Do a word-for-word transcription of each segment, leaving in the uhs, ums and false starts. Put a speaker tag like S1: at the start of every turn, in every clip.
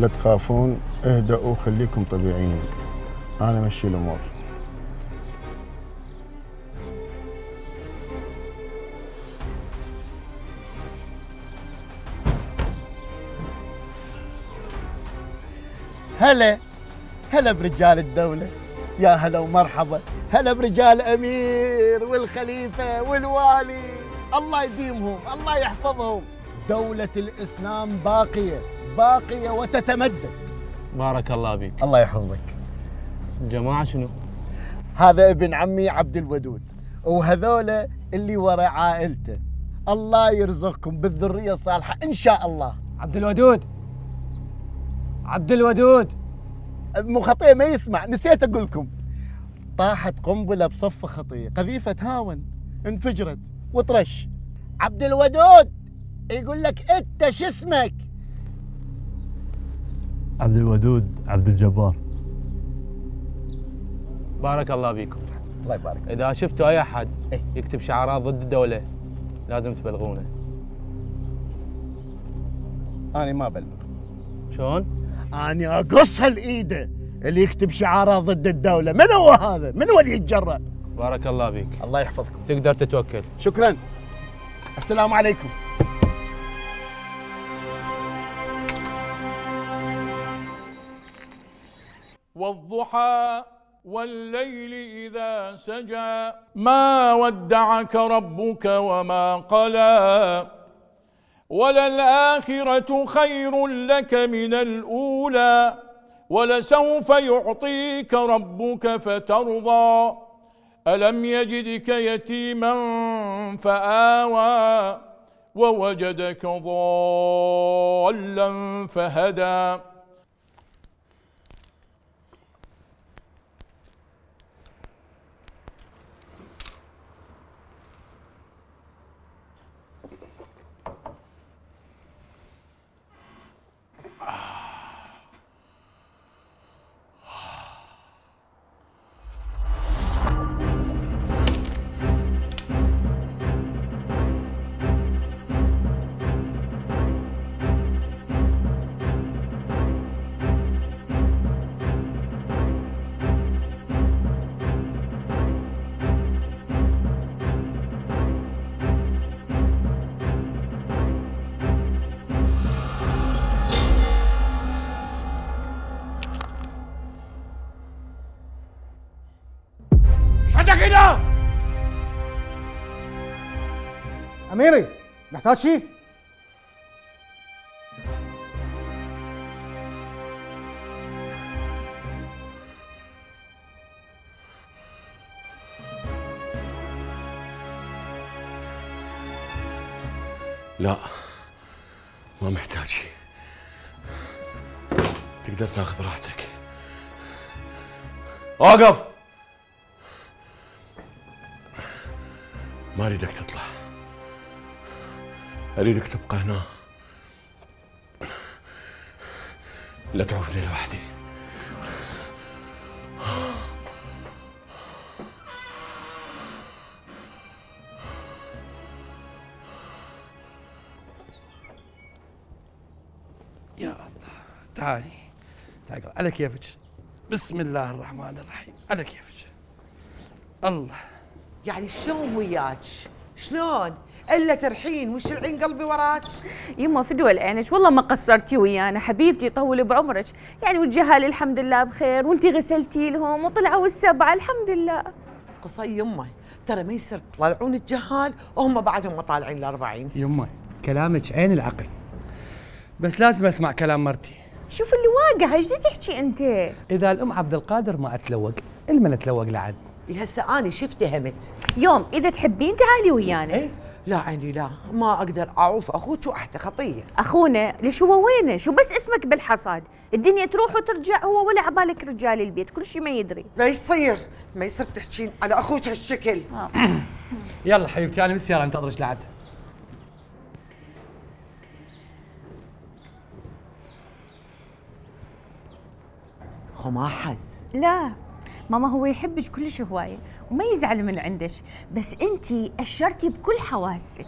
S1: لا تخافون، اهدأوا خليكم طبيعيين، أنا مشي الأمور. هلا هلا برجال الدولة، يا هلا ومرحبا، هلا برجال أمير والخليفة والوالي، الله يديمهم الله يحفظهم. دولة الإسلام باقية باقية وتتمدد.
S2: بارك الله بك.
S1: الله يحفظك.
S2: الجماعة شنو؟
S1: هذا ابن عمي عبد الودود، وهذولا اللي وراء عائلته. الله يرزقكم بالذرية الصالحة إن شاء الله.
S3: عبد الودود عبد الودود
S1: مو خطية ما يسمع، نسيت أقول لكم. طاحت قنبلة بصف خطية، قذيفة هاون انفجرت وطرش. عبد الودود يقول لك أنت شو اسمك؟
S4: عبد الودود عبد الجبار.
S2: بارك الله بيكم.
S1: الله يبارك.
S2: إذا شفتوا أي أحد يكتب شعارات ضد الدولة لازم تبلغونه.
S1: أنا ما أبلغ.
S2: شلون؟
S1: أنا أقص هالإيده اللي يكتب شعارات ضد الدولة. من هو هذا؟ من هو اللي يتجرأ؟
S2: بارك الله بيك.
S1: الله يحفظكم.
S2: تقدر تتوكل.
S1: شكرا. السلام عليكم.
S5: والضحى والليل إذا سجى ما ودعك ربك وما قلى وللآخرة خير لك من الأولى ولسوف يعطيك ربك فترضى ألم يجدك يتيما فآوى ووجدك ضالا فهدى.
S3: كده أميري، محتاج شيء؟
S6: لا ما محتاج شيء، تقدر تاخذ راحتك.
S7: اوقف.
S6: ما اريدك تطلع، اريدك تبقى هنا، لا تعوفني لوحدي.
S7: يا الله، تعالي تعالي على كيفك. بسم الله الرحمن الرحيم، على كيفك. الله.
S8: يعني شلون وياك؟ شلون؟ الا ترحين وش العين قلبي وراك؟
S9: يما فدوى لعينك، والله ما قصرتي ويانا حبيبتي، يطول بعمرك. يعني والجهال الحمد لله بخير، وانتي غسلتي لهم وطلعوا السبعه الحمد لله.
S8: قصي يمه، ترى ما يصير تطلعون الجهال وهم بعدهم ما طالعين الأربعين.
S3: يمه كلامك عين العقل، بس لازم اسمع كلام مرتي.
S9: شوف اللي واقع، ايش تحكي انت؟
S3: اذا الام عبد القادر ما اتلوق، المن اتلوق لعد.
S8: هسه اني شو افتهمت؟
S9: يوم اذا تحبين تعالي ويانا.
S8: ايه؟ لا عيني لا، ما اقدر اعوف اخوك واحده خطيه.
S9: اخونا ليش هو وينه؟ شو بس اسمك بالحصاد، الدنيا تروح وترجع، هو ولا عبالك رجال البيت، كل شيء ما يدري.
S8: ما يصير ما يصير تحكين على اخوك هالشكل.
S3: يلا حبيبتي انا بالسياره انتظرك لعد.
S8: خو ما حس.
S9: لا ماما هو يحبك كلش هوايه وما يزعل من عندك، بس انتي اشرتي بكل حواسك.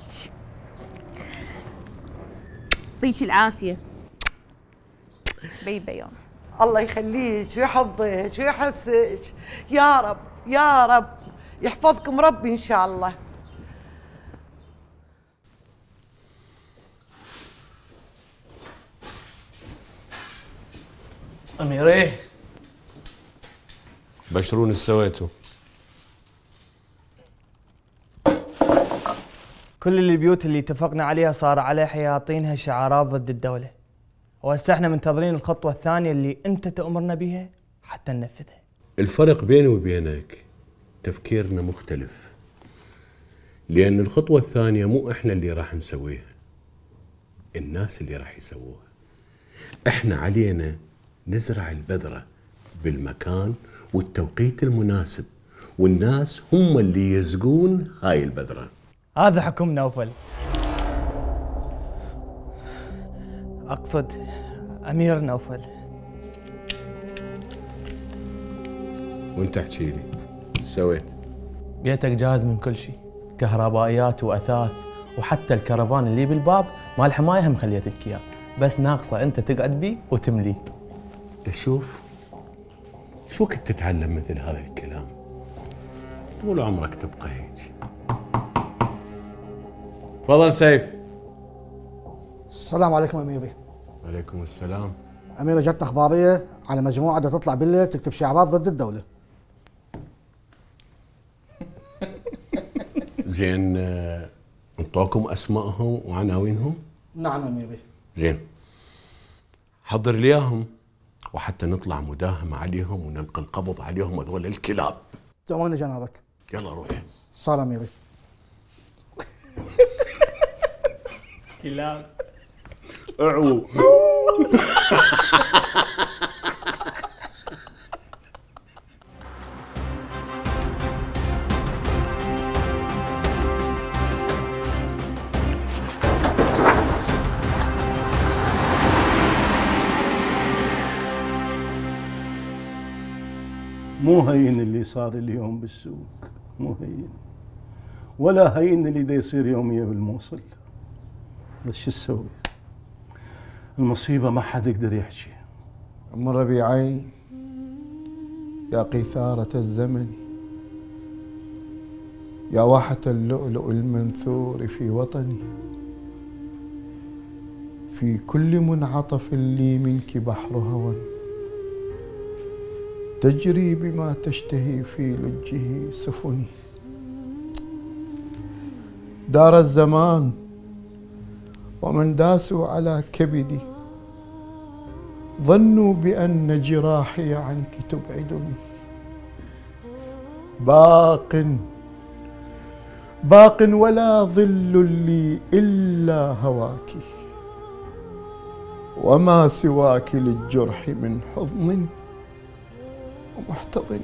S9: يعطيك العافيه. بي بيوم.
S8: الله يخليك ويحفظك ويحسك يا رب يا رب، يحفظكم ربي إن شاء الله.
S2: أميرة
S6: بشرون ايش سويتوا؟
S10: كل البيوت اللي اتفقنا عليها صار عليها حياطينها شعارات ضد الدولة، وهسه احنا منتظرين الخطوة الثانية اللي انت تأمرنا بها حتى ننفذها.
S6: الفرق بيني وبينك تفكيرنا مختلف، لأن الخطوة الثانية مو احنا اللي راح نسويها، الناس اللي راح يسووها. احنا علينا نزرع البذرة بالمكان والتوقيت المناسب، والناس هم اللي يزقون هاي البذرة.
S10: هذا حكم نوفل. أقصد أمير نوفل.
S6: وانت احكي لي ايش سويت؟
S2: بيتك جاهز من كل شيء، كهربائيات وأثاث، وحتى الكرفان اللي بالباب مال حماية هم خليت لك إياه، بس ناقصة أنت تقعد بيه وتمليه.
S6: تشوف شو كنت تتعلم مثل هذا الكلام؟ طول عمرك تبقى هيك. تفضل سيف.
S11: السلام عليكم أميري.
S6: وعليكم السلام.
S11: أميري جتنا أخبارية على مجموعة بدها تطلع بالليل تكتب شعارات ضد الدولة.
S6: زين، انطوكم أسمائهم وعناوينهم؟
S11: نعم أميري.
S6: زين، حضر لي اياهم وحتى نطلع مداهمة عليهم ونلقي القبض عليهم هذول الكلاب.
S11: تأمرني جنابك.
S6: يلا روح.
S11: صار أميري.
S10: كلاب.
S6: اعو.
S12: مو هين اللي صار اليوم بالسوق، مو هين، ولا هين اللي دا يصير يوميا بالموصل. بس شو تسوي؟ المصيبة ما حد يقدر يحكي.
S1: أم ربيعين يا قيثارة الزمن، يا واحة اللؤلؤ المنثور في وطني، في كل منعطف لي منك بحر هوى تجري بما تشتهي في لجه سفني. دار الزمان ومن داسوا على كبدي، ظنوا بأن جراحي عنك تبعدني. باق باق ولا ظل لي إلا هواك، وما سواك للجرح من حضن ومحتضن.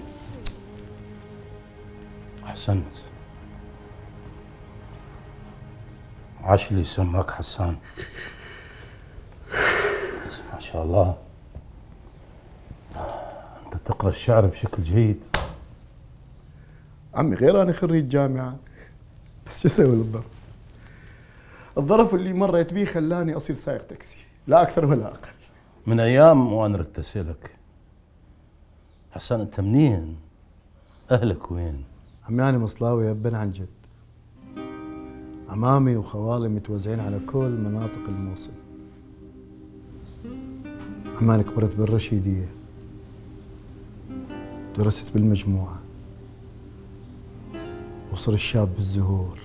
S12: أحسنت، عاش اللي سماك حسان. ما شاء الله أنت تقرأ الشعر بشكل جيد.
S1: عمي غير أنا خريج جامعة، بس شو أسوي للظرف؟ الظرف اللي مريت بيه خلاني أصير سائق تاكسي، لا أكثر ولا أقل.
S12: من أيام وأنا ردت أسألك حسان أنت منين؟ أهلك وين؟
S1: عمي أنا مصلاوي يا ابن عن جد. عمامي وخوالي متوزعين على كل مناطق الموصل. عمي أنا كبرت بالرشيدية، درست بالمجموعة، وصر الشاب بالزهور،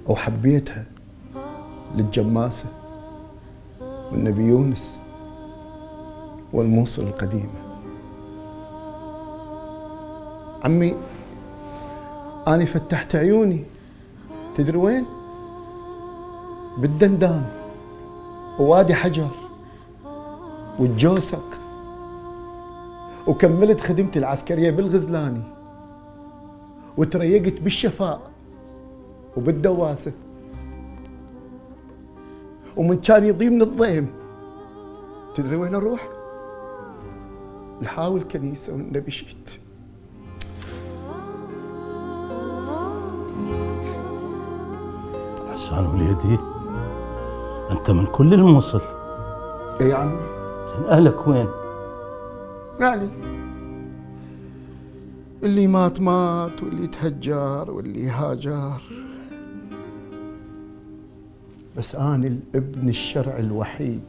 S1: وحبيتها للجماسة والنبي يونس والموصل القديمة. عمي أنا فتحت عيوني، تدري وين؟ بالدندان ووادي حجر والجوسق، وكملت خدمتي العسكرية بالغزلاني، وتريقت بالشفاء وبالدواسة، ومن كان يضيمني الضيم تدري وين اروح؟ لحاول كنيسة والنبي شيت.
S12: حسان وليدي أنت من كل الموصل،
S1: اي يا عمي.
S12: اهلك وين؟
S1: يعني اللي مات مات واللي تهجر واللي هاجر، بس أنا الابن الشرعي الوحيد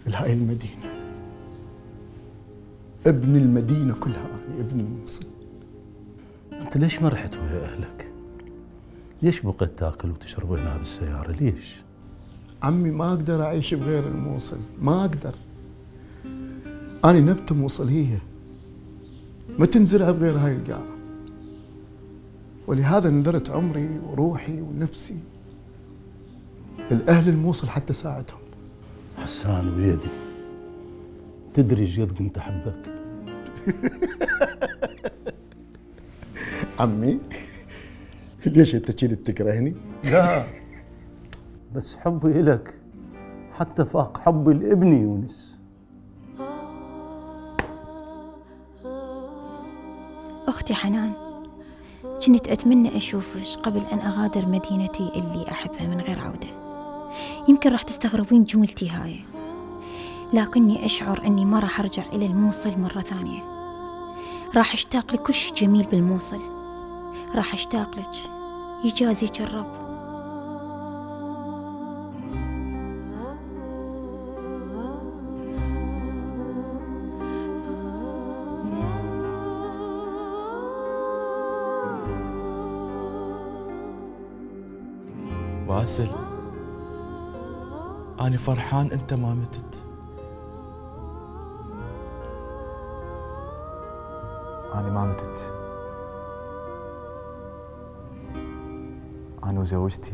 S1: في هاي المدينة، ابن المدينة كلها، أنا ابن الموصل.
S12: أنت ليش ما رحت ويا أهلك؟ ليش بقيت تاكل وتشرب هنا بالسيارة؟ ليش؟
S1: عمي ما أقدر أعيش بغير الموصل، ما أقدر. أنا نبتة موصلية ما تنزرع بغير هاي القاعة، ولهذا نذرت عمري وروحي ونفسي الأهل الموصل حتى ساعدهم.
S12: حسان وليدي، تدري ايش قد كنت أحبك؟
S1: عمي ليش أنت كذي تكرهني؟
S12: لا، بس حبي إلك حتى فاق حبي لابني يونس.
S13: أختي حنان، كنت أتمنى أشوفش قبل أن أغادر مدينتي اللي أحبها من غير عودة. يمكن راح تستغربين جملتي هاي، لكني أشعر أني ما راح أرجع إلى الموصل مرة ثانية. راح أشتاق لكل شيء جميل بالموصل، راح أشتاق لك، يجازيك الرب.
S2: باسل، أنا فرحان أنت ما متت.
S14: أنا ما متت، أنا وزوجتي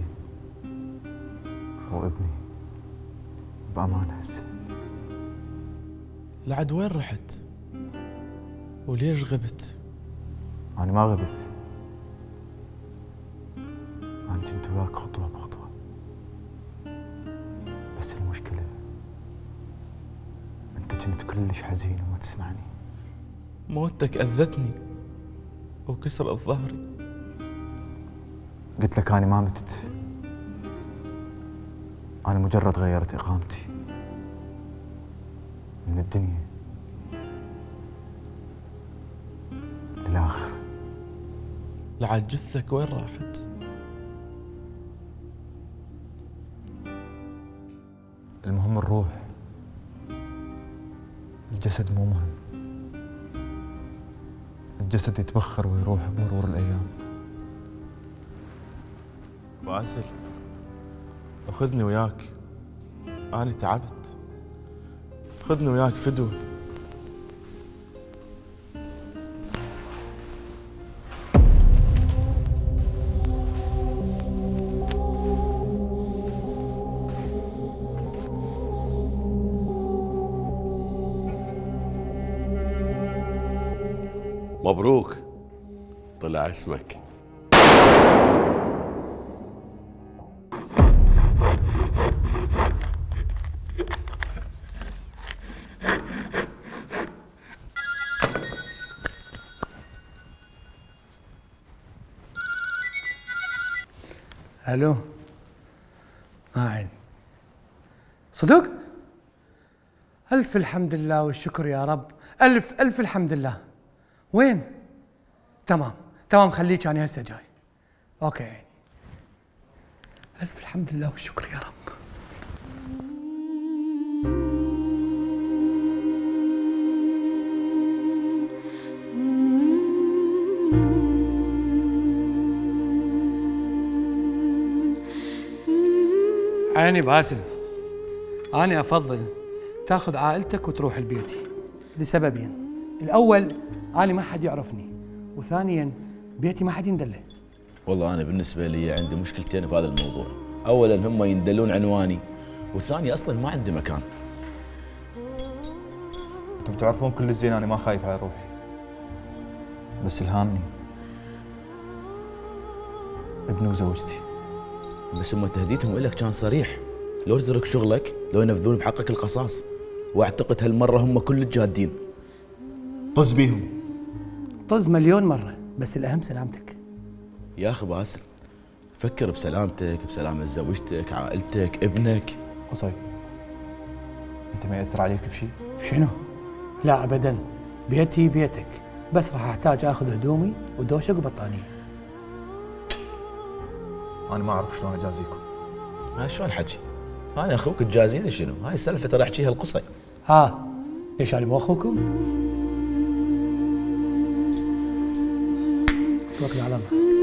S14: وابني بأمان هسه.
S2: لعد وين رحت؟ وليش غبت؟
S14: أنا ما غبت، أنا كنت وياك خطوة بخطوة، بس المشكلة أنت كنت كلش حزين وما تسمعني.
S2: موتك أذتني وكسرت ظهري.
S14: قلت لك أنا ما متت، أنا مجرد غيرت إقامتي من الدنيا للآخرة.
S2: لعد جثك وين راحت؟
S14: المهم الروح، الجسد مو مهم. الجسد يتبخر ويروح بمرور الأيام.
S2: باسل، خذني وياك، أنا تعبت. خذني وياك فدوة.
S6: مبروك، طلع اسمك.
S7: الو، ما عين صدق؟ الف الحمد لله والشكر يا رب، الف الف الحمد لله. وين؟ تمام تمام، خليك انا هسه جاي. اوكي يعني. الف الحمد لله والشكر يا رب. عيني باسل، أنا أفضل تاخذ عائلتك وتروح لبيتي لسببين. الأول، أنا ما حد يعرفني، وثانياً بيتي ما حد يندله.
S15: والله أنا بالنسبة لي عندي مشكلتين بهذا الموضوع. أولاً هم يندلون عنواني، والثاني أصلاً ما عندي مكان.
S14: انتم تعرفون كل الزين أنا ما خايف على روحي، بس الهامني ابني وزوجتي.
S15: بس هم تهديدهم لك كان صريح، لو تترك شغلك لو ينفذون بحقك القصاص، واعتقد هالمرة هم كل الجادين.
S14: طز بيهم.
S7: طز مليون مرة، بس الأهم سلامتك.
S15: يا أخي باسل، فكر بسلامتك، بسلامة زوجتك، عائلتك، ابنك.
S14: قصي، انت ما ياثر عليك بشيء؟
S7: شنو؟ لا ابدا، بيتي بيتك، بس راح احتاج اخذ هدومي ودوشك وبطانيه.
S14: انا ما اعرف شلون اجازيكم.
S15: ها شلون حكي؟ انا اخوك تجازيني شنو؟ هاي السالفه ترى احكيها القصي.
S7: ها ليش انا مو اخوكم؟ توكل على الله.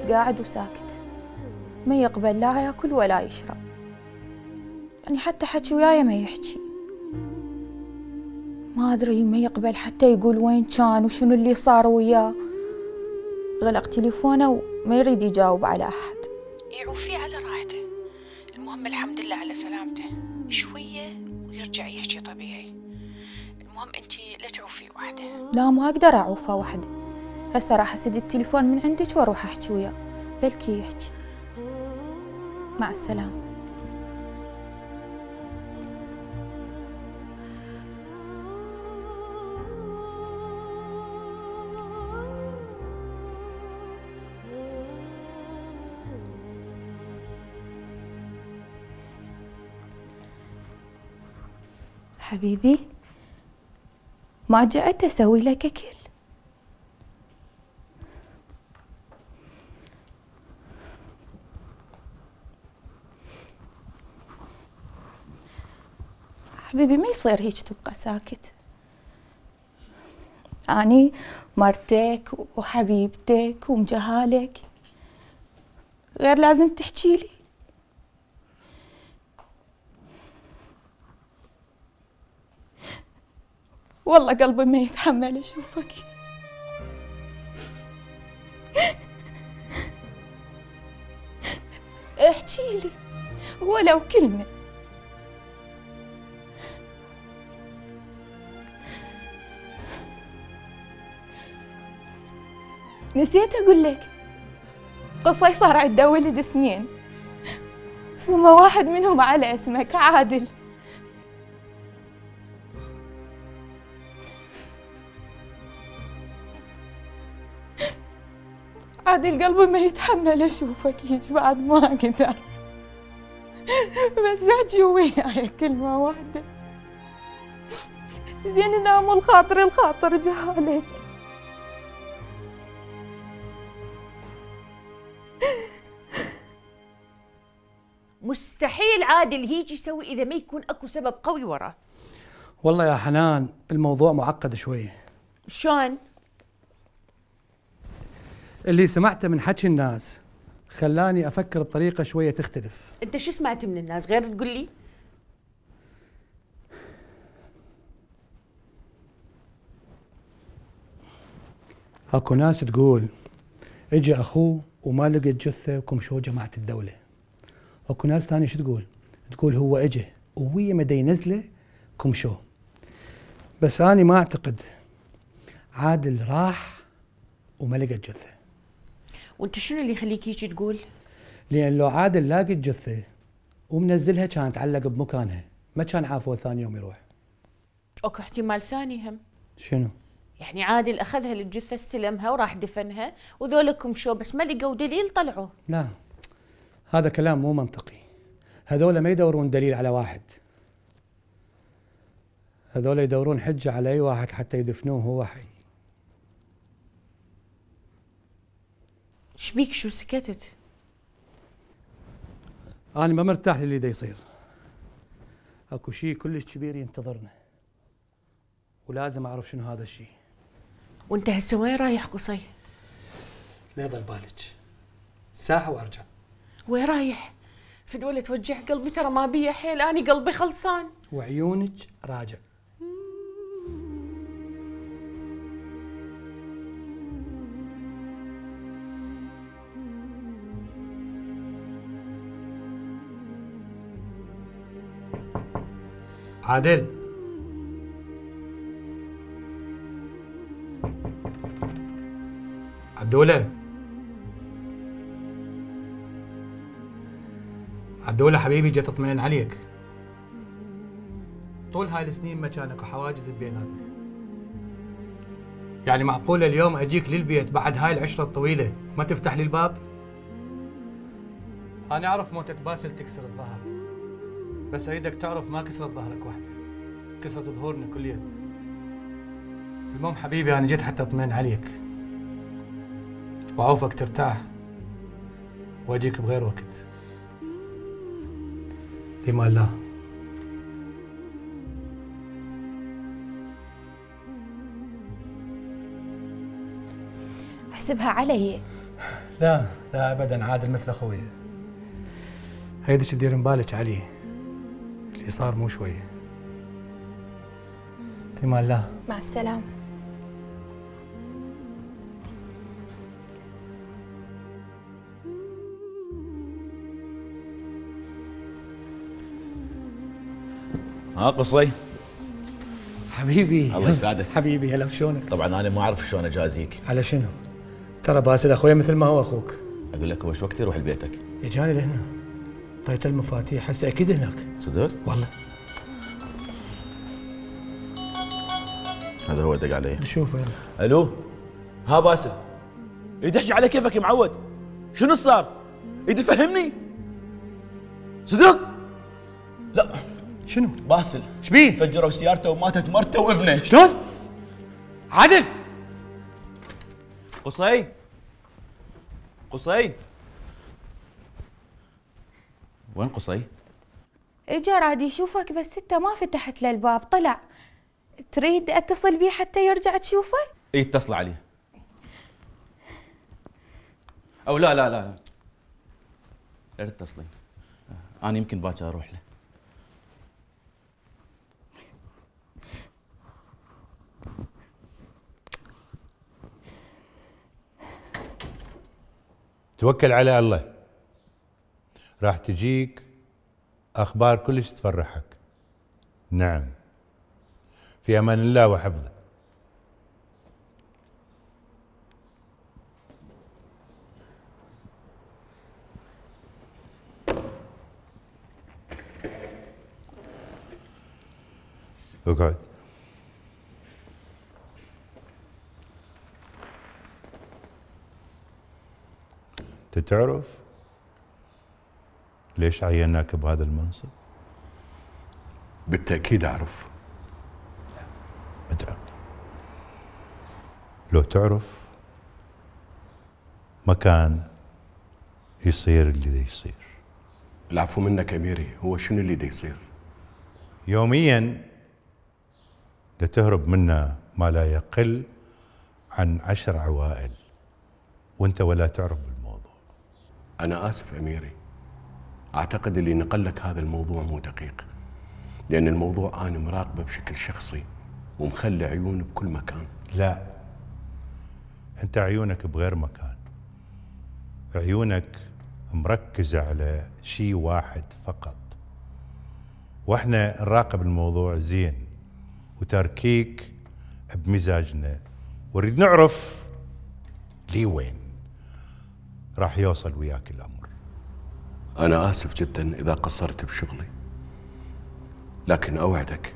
S13: قاعد وساكت، ما يقبل لا ياكل ولا يشرب، يعني حتى حكي وياي ما يحكي. ما ادري ما يقبل حتى يقول وين كان وشنو اللي صار وياه. غلق تليفونه وما يريد يجاوب على احد.
S16: يعوفيه على راحته، المهم الحمد لله على سلامته، شويه ويرجع يحكي طبيعي. المهم انتي لا تعوفيه وحده.
S13: لا ما اقدر اعوفه وحده، هسه راح اسد التليفون من عندك واروح احكي وياه، بلكي يحكي. مع السلامة. حبيبي ما جئت اسوي لك اكل. حبيبي ما يصير هيك تبقى ساكت. أني مرتك وحبيبتك ومجهالك، غير لازم تحكي لي. والله قلبي ما يتحمل أشوفك. احكي لي ولو كلمة. نسيت أقول لك قصي صار عنده ولد اثنين، ثم واحد منهم على اسمك عادل. عادل قلبي ما يتحمل أشوفك هيك بعد ما أقدر، بس احكي وياي كلمة واحدة. زين إذا مو الخاطر الخاطر جهالك.
S16: مستحيل عادل هيجي يسوي اذا ما يكون اكو سبب قوي وراه.
S7: والله يا حنان الموضوع معقد شويه.
S16: شلون؟
S7: اللي سمعته من حكي الناس خلاني افكر بطريقه شويه تختلف.
S16: انت شو سمعت من الناس غير تقول لي؟
S7: اكو ناس تقول اجى اخوه وما لقى الجثه وكمشوه جماعه الدوله. اكو ناس ثانيه شو تقول؟ تقول هو اجى وويا مدى ينزله كمشوه. بس أنا ما أعتقد. عادل راح وما لقى الجثة.
S16: وأنت شنو اللي يخليك هيك تقول؟
S7: لأن لو عادل لاقي الجثة ومنزلها كانت تعلق بمكانها، ما كان عافوه ثاني يوم يروح.
S16: أكو احتمال ثاني هم.
S7: شنو؟
S16: يعني عادل أخذها للجثة استلمها وراح دفنها وذولكم شو بس ما لقوا دليل طلعوا.
S7: لا هذا كلام مو منطقي. هذول ما يدورون دليل على واحد، هذول يدورون حجة على أي واحد حتى يدفنوه وهو حي.
S16: شبيك شو سكتت؟
S7: أنا ما مرتاح للي دا يصير. أكو شيء كلش كبير ينتظرنا ولازم أعرف شنو هذا الشيء.
S16: وأنت هسه وين رايح قصي؟
S7: لا يضل بالك، ساعة وأرجع.
S16: وين رايح؟ في دولة توجع قلبي ترى ما بيا حيل، أنا قلبي خلصان.
S7: وعيونك راجع. عادل عدولة عدولة حبيبي، جيت اطمئن عليك. طول هاي السنين مكانك وحواجز بيناتنا، يعني معقولة اليوم اجيك للبيت بعد هاي العشرة الطويلة ما تفتح لي الباب؟ انا اعرف موتة باسل تكسر الظهر، بس اريدك تعرف ما كسرت ظهرك وحده، كسرت ظهورنا كليتنا. المهم حبيبي انا جيت حتى اطمئن عليك واعوفك ترتاح واجيك بغير وقت. في امان الله.
S13: احسبها علي.
S7: لا لا ابدا، عادل مثل اخوي. هيدش تدير بالك عليه، اللي صار مو شويه. في امان الله.
S13: مع السلامه.
S15: ها قصي
S7: حبيبي.
S15: الله يسعدك
S7: حبيبي. هلا شلونك؟
S15: طبعا انا ما اعرف شلون اجازيك.
S7: على شنو؟ ترى باسل اخوي مثل ما هو اخوك.
S15: اقول لك هو شو وقت يروح لبيتك؟
S7: اجاني لهنا، طيت المفاتيح، هسه اكيد هناك.
S15: صدق؟
S7: والله.
S15: هذا هو دق علي.
S7: شوف يلا.
S15: الو. ها باسل. يريد يحكي على كيفك يا معود. شنو صار؟ يريد يفهمني؟ صدق؟ لا.
S7: شنو؟
S15: باسل.
S7: ايش بيه؟
S15: فجروا سيارته وماتت مرته وابنه.
S7: شلون؟ عادل.
S15: قصي. قصي. وين قصي؟
S13: اجا راد يشوفك بس انت ما فتحت له الباب، طلع. تريد اتصل بيه حتى يرجع تشوفه؟
S15: اي اتصل عليه. او لا لا لا لا تتصلين، انا يمكن باكر اروح له.
S17: توكل على الله، راح تجيك اخبار كلش تفرحك. نعم، في امان الله وحفظه. اقعد. انت تعرف ليش عيناك بهذا المنصب؟
S6: بالتأكيد أعرف.
S17: ما تعرف. لو تعرف ما كان يصير اللي دا يصير.
S6: العفو منك أميري، هو شنو اللي دا يصير؟
S17: يوميا دا تهرب منا ما لا يقل عن عشر عوائل وانت ولا تعرف بالموضوع.
S6: أنا آسف أميري، أعتقد اللي نقل لك هذا الموضوع مو دقيق، لأن الموضوع أنا مراقبه بشكل شخصي ومخلي عيوني بكل مكان.
S17: لا، أنت عيونك بغير مكان، عيونك مركزة على شيء واحد فقط، وإحنا نراقب الموضوع زين وتركيك بمزاجنا، ونريد نعرف لي وين راح يوصل وياك الأمر.
S6: أنا آسف جدا إذا قصرت بشغلي، لكن أوعدك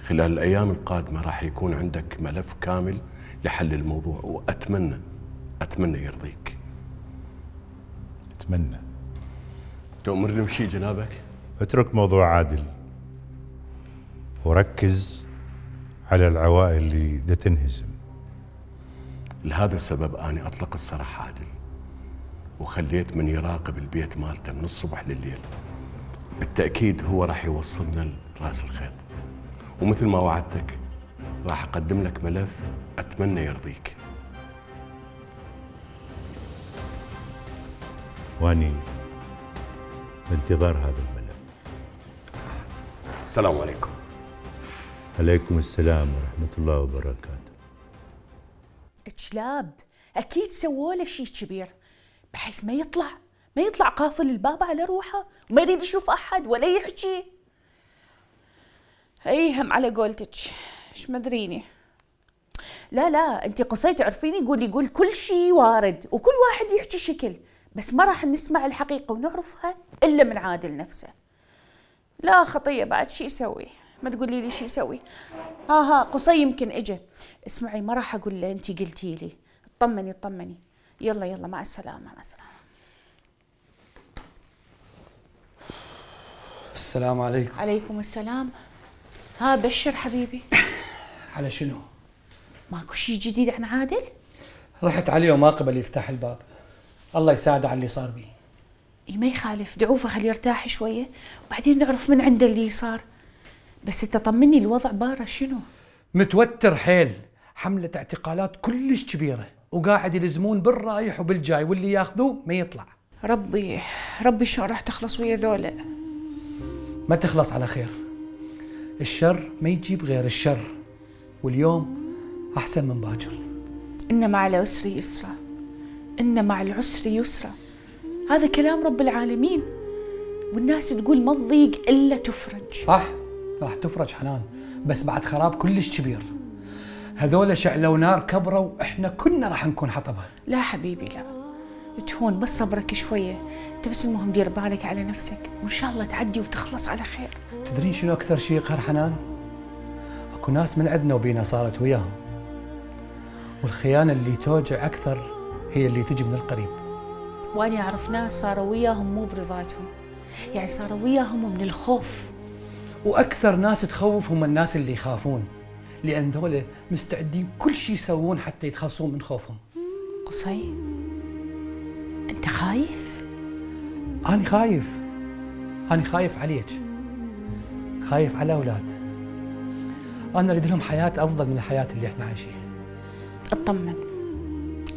S6: خلال الأيام القادمة راح يكون عندك ملف كامل لحل الموضوع، وأتمنى أتمنى يرضيك.
S17: أتمنى.
S6: تأمرني بشي جنابك؟
S17: اترك موضوع عادل وركز على العوائل اللي دا تنهزم.
S6: لهذا السبب أنا أطلق السراح عادل، وخليت من يراقب البيت مالته من الصبح لليل. بالتأكيد هو راح يوصلنا لراس الخيط، ومثل ما وعدتك راح أقدم لك ملف أتمنى يرضيك.
S17: واني بانتظار هذا الملف.
S6: السلام عليكم.
S17: عليكم السلام ورحمة الله وبركاته.
S16: كلاب اكيد سووا له شيء كبير بحيث ما يطلع ما يطلع قافل الباب على روحه وما يريد يشوف احد ولا يحكي. اي هم على قولتك، ايش مدريني. لا لا انت قصي تعرفيني، قولي قول كل شيء وارد وكل واحد يحكي شكل، بس ما راح نسمع الحقيقة ونعرفها الا من عادل نفسه. لا خطية بعد شي يسوي، ما تقولي لي شي يسوي. ها ها قصي يمكن اجى. اسمعي ما راح اقول له انت قلتي لي، اطمني اطمني. يلا يلا مع السلامة مع السلامة.
S7: السلام عليكم.
S16: عليكم السلام. ها بشر حبيبي.
S7: على شنو؟
S16: ماكو شي جديد عن عادل؟
S7: رحت عليه وما قبل يفتح الباب. الله يساعده على اللي صار بيه.
S16: اي ما يخالف، دعوفه خليه يرتاح شوية وبعدين نعرف من عنده اللي صار. بس انت طمني الوضع باره شنو؟
S7: متوتر حيل، حملة اعتقالات كلش كبيرة وقاعد يلزمون بالرايح وبالجاي واللي ياخذوه ما يطلع.
S16: ربي ربي شلون راح تخلص ويا ذولا؟
S7: ما تخلص على خير. الشر ما يجيب غير الشر، واليوم أحسن من باكر.
S16: إن مع العسر يسرا، إن مع العسر يسرا، هذا كلام رب العالمين، والناس تقول ما تضيق إلا تفرج.
S7: صح راح تفرج حنان، بس بعد خراب كلش كبير. هذولا شعلوا نار كبروا وإحنا كنا راح نكون حطبها.
S16: لا حبيبي لا، تهون بس صبرك شوية، أنت بس المهم دير بالك على نفسك وإن شاء الله تعدي وتخلص على خير.
S7: تدرين شنو أكثر شيء يقهر حنان؟ اكو ناس من عندنا وبينا صارت وياهم، والخيانة اللي توجع أكثر هي اللي تجي من القريب.
S16: وأنا أعرف ناس صاروا وياهم مو برضاتهم، يعني صاروا وياهم من الخوف.
S7: وأكثر ناس تخوف هم الناس اللي يخافون، لأن ذولا مستعدين كل شيء يسوون حتى يتخلصون من خوفهم.
S16: قصي أنت خايف؟
S7: أنا خايف، أنا خايف عليك، خايف على أولاد. أنا أريد لهم حياة أفضل من الحياة اللي إحنا عايشينها.
S16: اطمن،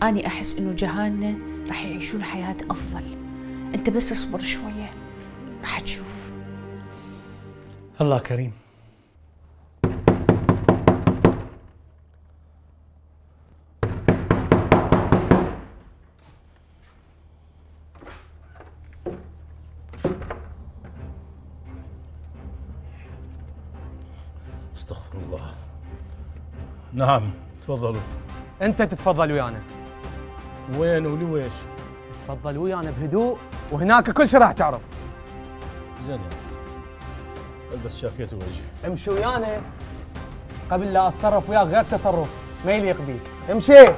S16: أنا أحس إنه جهالنا راح يعيشون حياة أفضل، أنت بس اصبر شوية راح تشوف.
S7: الله كريم.
S12: استغفر الله. نعم تفضلوا.
S2: انت تتفضل ويانا.
S12: وين ولويش؟
S2: تفضل ويانا بهدوء وهناك كل شيء راح تعرف.
S12: زين البس شاكيت ووجهي.
S2: امشي ويانا قبل لا اتصرف وياك غير تصرف ما يليق بيك. امشي.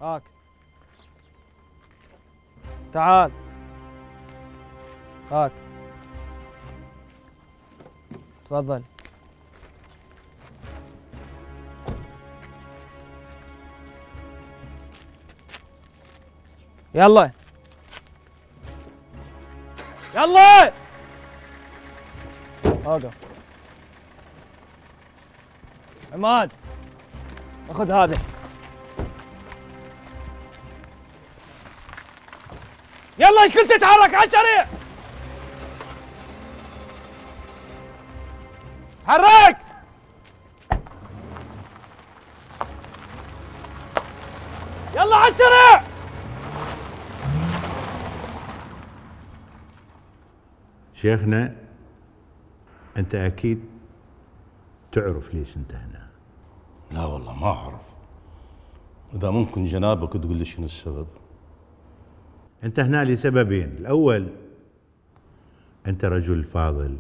S10: هاك تعال هاك تفضل. يلا يلا اوقف. عماد خذ هذا. يلا الكل تتحرك على السريع. حرك. يلا على السريع.
S17: شيخنا انت اكيد تعرف ليش انت هنا.
S12: لا والله ما اعرف، إذا ممكن جنابك تقول لي شنو السبب؟
S17: أنت هنا لسببين. الأول أنت رجل فاضل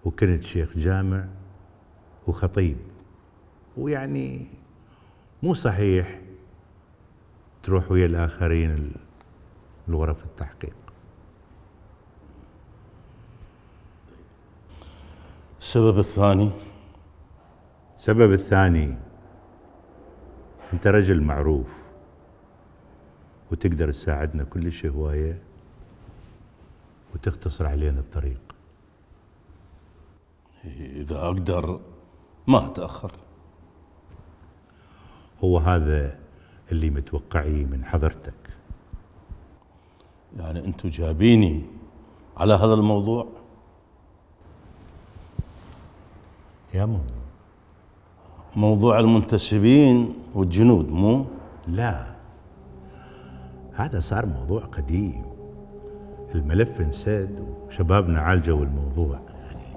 S17: وكنت شيخ جامع وخطيب، ويعني مو صحيح تروح ويا الآخرين الغرف التحقيق.
S12: السبب الثاني؟
S17: السبب الثاني أنت رجل معروف وتقدر تساعدنا كلش هواية وتختصر علينا الطريق.
S12: إذا أقدر ما أتأخر.
S17: هو هذا اللي متوقعيه من حضرتك.
S12: يعني أنتوا جابيني على هذا الموضوع؟
S17: يا مو
S12: موضوع المنتسبين والجنود مو؟
S17: لا، هذا صار موضوع قديم، الملف انسد وشبابنا عالجوا الموضوع. يعني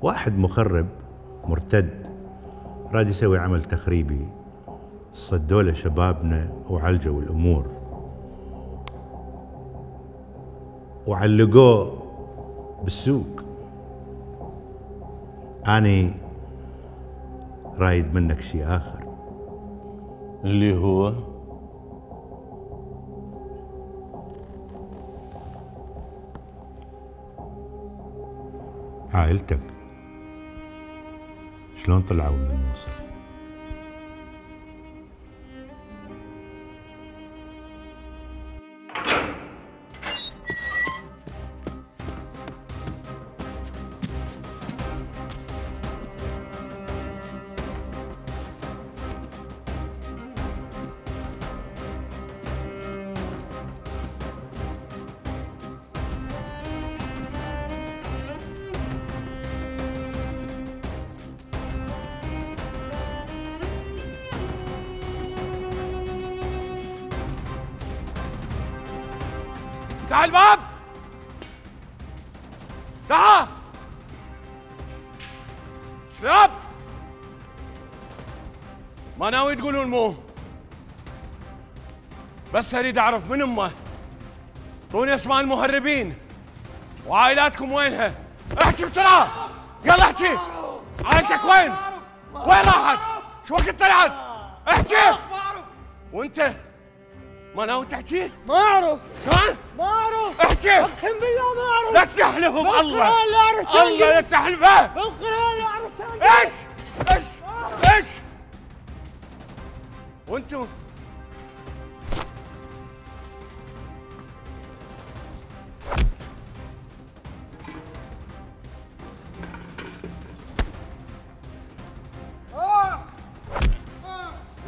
S17: واحد مخرب مرتد راد يسوي عمل تخريبي، صدوا له شبابنا وعالجوا الامور وعلقوه بالسوق. اني رايد منك شيء اخر
S12: اللي هو
S17: عائلتك شلون طلعوا من الموصل؟
S18: افتح الباب! افتحها! شباب! ما ناوي تقولون مو، بس اريد اعرف من امه. اعطوني اسماء المهربين وعائلاتكم وينها. احكي بسرعه، يلا احكي. عائلتك وين؟ وين راحت؟ شو وقت طلعت؟ احكي. وانت ما ناوي تحكي؟
S19: ما اعرف.
S18: شلون؟
S19: ما اعرف.
S18: احكي.
S19: اقسم بالله ما اعرف.
S18: لا تحلف بالله.
S19: بالقرآن لا اعرف تنقل.
S18: الله لا تحلفه.
S19: بالقرآن لا اعرف تنقل.
S18: ايش؟ ايش؟ ايش؟ وانتم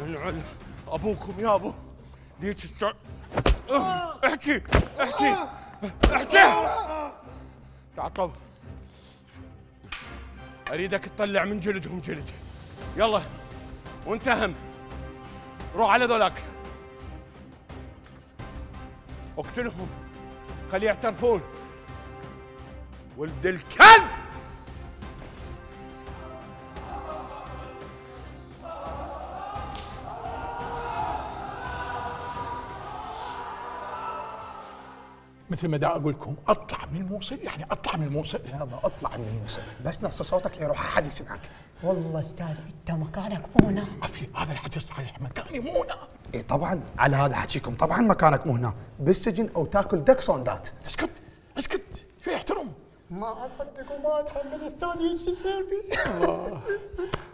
S18: ينعل ابوكم يا ابو ليش الشعب. احكي احكي احكي. تعطوا اريدك تطلع من جلدهم جلد. يلا وانت هم روح على ذولاك اقتلهم، خليه يعترفون. ولد الكلب.
S5: مثل ما دا اقول لكم اطلع من الموصل، يعني اطلع من الموصل.
S20: يابا اطلع من الموصل، بس نص صوتك ليروح احد يسمعك.
S19: والله استاذ انت مكانك مو هنا.
S5: عفي هذا الحكي صحيح، مكاني مو هنا.
S20: اي طبعا على هذا حكيكم، طبعا مكانك مو هنا، بالسجن او تاكل دك سوندات.
S5: اسكت اسكت، شوي احترم.
S19: ما اصدق وما اتحمل استاذ ايش يصير بي.
S5: الله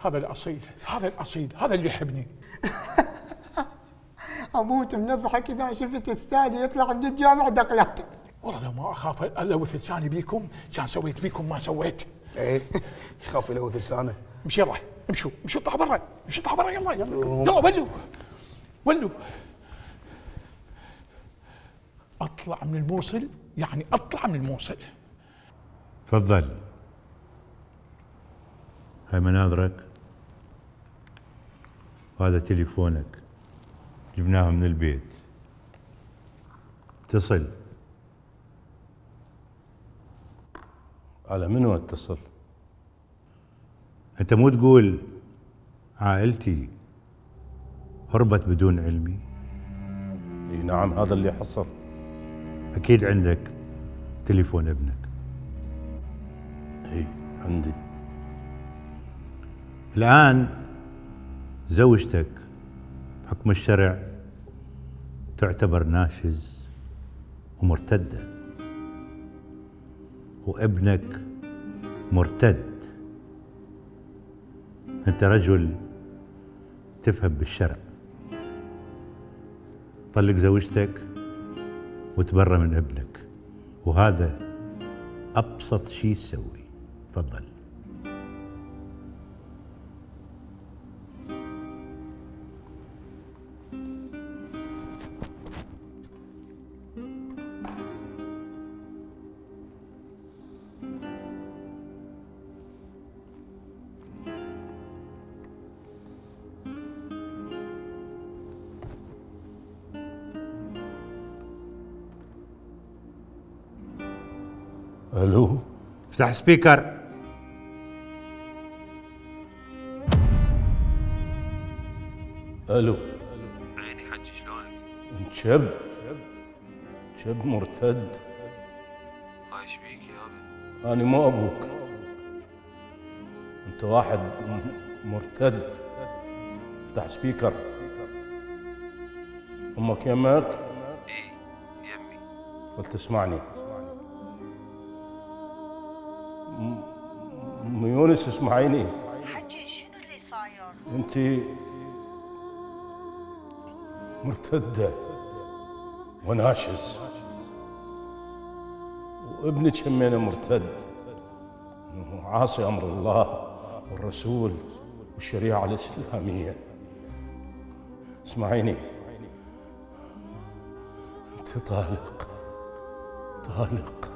S5: هذا الاصيل، هذا الاصيل، هذا اللي يحبني.
S19: اموت من الضحك اذا شفت استاذ يطلع من الجامع دقلات.
S5: والله لو ما اخاف الوث لساني بيكم كان سويت بيكم ما سويت.
S20: ايه يخاف يلوث لسانه.
S5: امشي يلا امشوا امشوا اطلعوا برا، امشوا اطلعوا برا يلا يلا يلا ولوا ولوا. اطلع من الموصل، يعني اطلع من الموصل.
S17: تفضل، هاي مناظرك وهذا تليفونك، جبناها من البيت. اتصل.
S12: على منو اتصل؟
S17: انت مو تقول عائلتي هربت بدون علمي؟
S12: اي نعم، هذا اللي حصل.
S17: اكيد عندك تليفون ابنك.
S12: اي عندي.
S17: الان زوجتك بحكم الشرع تعتبر ناشز ومرتدة، وابنك مرتد. انت رجل تفهم بالشرع، طلق زوجتك وتبرى من ابنك، وهذا ابسط شيء تسوي. تفضل.
S12: الو،
S17: افتح سبيكر.
S12: الو.
S21: عيني حجي شلونك؟
S12: انت شب شب مرتد.
S21: هاي ايش بيك يابا؟
S12: انا مو ابوك، انت واحد مرتد. افتح سبيكر. امك يمك؟
S21: اي يمي.
S12: قلت تسمعني. ام يونس اسمعيني.
S8: حجي شنو اللي صاير؟
S12: انت مرتدة وناشز، وابنك همينه مرتد وعاصي امر الله والرسول والشريعة الإسلامية. اسمعيني، انت طالق طالق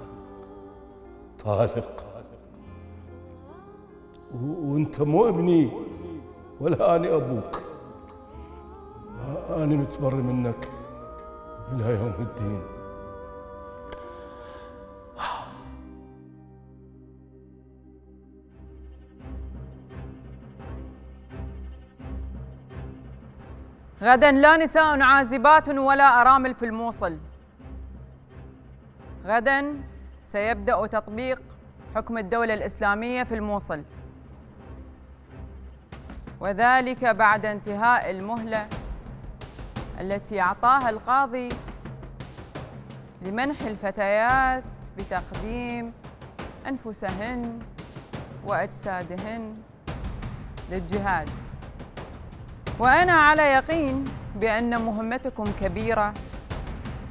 S12: طالق، وانت مو ابني ولا اني ابوك. انا متبري منك الى يوم الدين.
S22: غدا لا نساء عازبات ولا أرامل في الموصل. غدا سيبدأ تطبيق حكم الدولة الإسلامية في الموصل، وذلك بعد انتهاء المهلة التي أعطاها القاضي لمنح الفتيات بتقديم أنفسهن وأجسادهن للجهاد. وأنا على يقين بأن مهمتكم كبيرة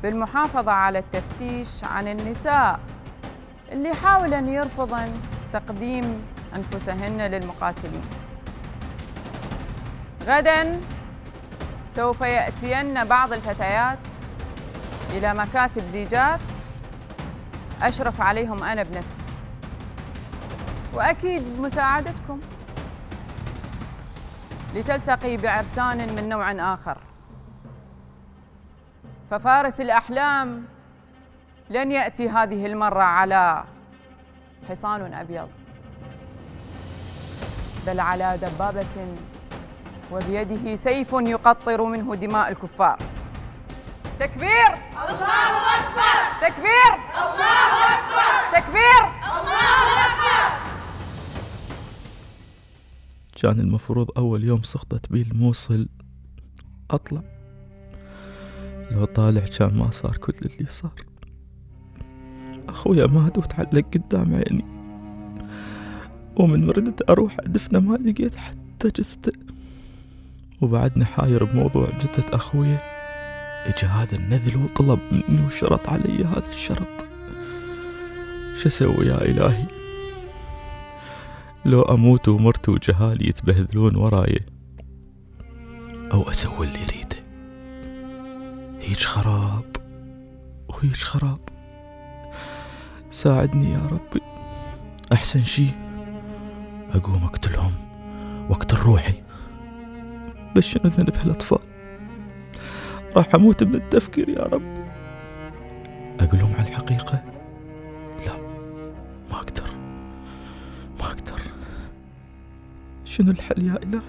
S22: بالمحافظة على التفتيش عن النساء اللي حاولن يرفضن تقديم أنفسهن للمقاتلين. غداً سوف يأتين بعض الفتيات إلى مكاتب زيجات أشرف عليهم أنا بنفسي، وأكيد بمساعدتكم، لتلتقي بعرسان من نوع آخر. ففارس الأحلام لن يأتي هذه المرة على حصان أبيض، بل على دبابة وبيده سيف يقطر منه دماء الكفار. تكبير! الله أكبر! تكبير! الله أكبر! تكبير! الله أكبر!
S23: كان المفروض أول يوم سقطت بي الموصل أطلع، لو طالع كان ما صار كل اللي صار. أخويا مات وتعلق قدام عيني، ومن ردت أروح أدفنه ما لقيت حتى جثته، وبعدني حاير بموضوع جثة أخويا. إجا هذا النذل وطلب مني وشرط علي هذا الشرط. شو أسوي يا إلهي؟ لو أموت ومرت وجهالي يتبهذلون وراي، أو أسوي اللي يريده. هيج خراب وهيج خراب. ساعدني يا ربي. أحسن شي أقوم أقتلهم وأقتل روحي، بس شنو ذنب هالأطفال؟ راح أموت من التفكير يا ربي. أقولهم على الحقيقة؟ لا، ما أقدر ما أقدر. شنو الحل يا إلهي؟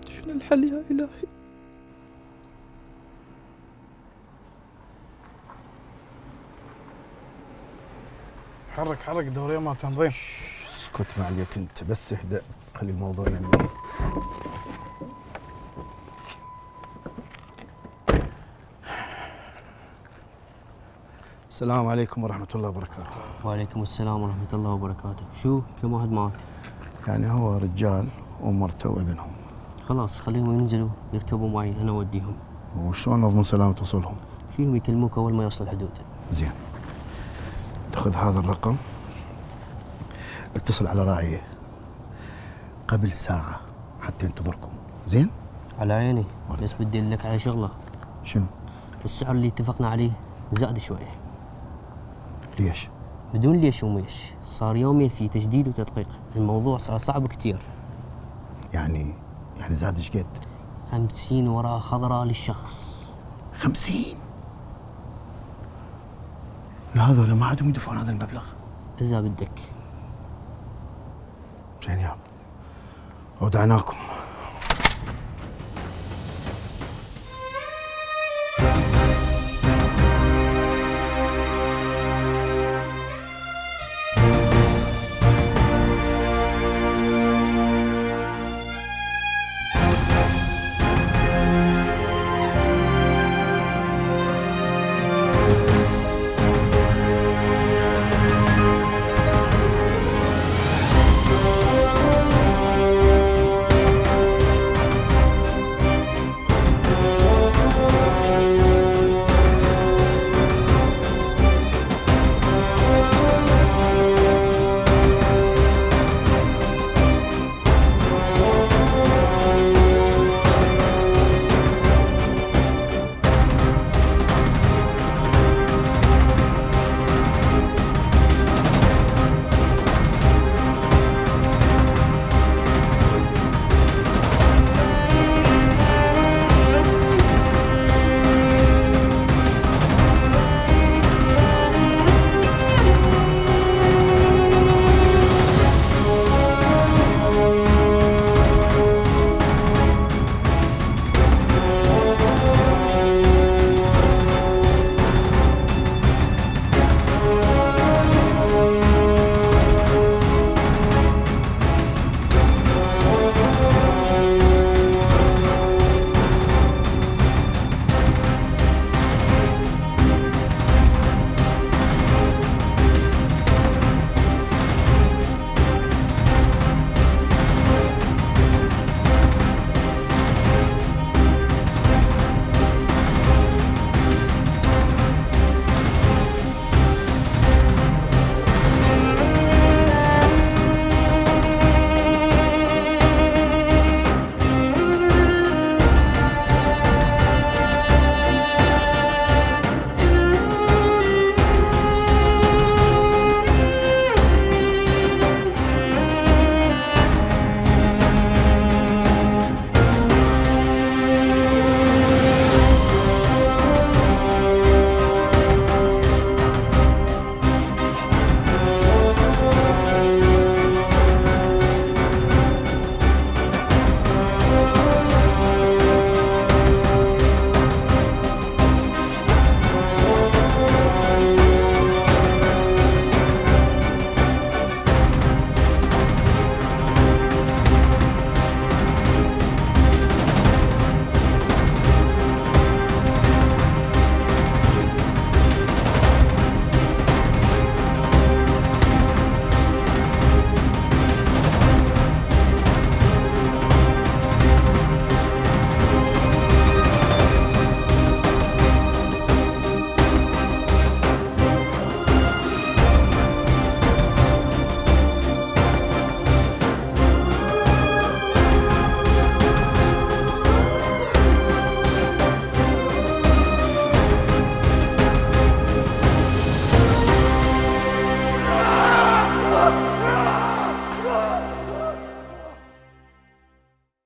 S23: شنو الحل؟ الحل يا إلهي.
S20: حرك حرك دورية مال تنظيم.
S3: اسكت ما عليك انت، بس اهدأ، خلي الموضوع يمي. السلام عليكم ورحمة الله وبركاته.
S4: وعليكم السلام ورحمة الله وبركاته. شو كم واحد معك؟
S3: يعني هو رجال ومرته وابنهم.
S4: خلاص خليهم ينزلوا يركبوا معي أنا أوديهم.
S3: وشلون نضمن سلامة وصولهم؟
S4: فيهم يكلموك أول ما يوصل الحدود.
S3: زين. تاخذ هذا الرقم، اتصل على راعيه قبل ساعة حتى ينتظركم. زين؟
S4: على عيني، بس بدي أقول لك على شغلة.
S3: شنو؟
S4: السعر اللي اتفقنا عليه زاد شوي.
S3: ليش؟
S4: بدون ليش وميش، صار يومين في تجديد وتدقيق، الموضوع صار صعب كتير.
S3: يعني يعني زاد ايش قد؟
S4: خمسين ورقة خضراء للشخص.
S3: خمسين؟ لا هذول ما عادهم يدفعون هذا المبلغ.
S4: إذا بدك.
S3: زين يابا، أودعناكم.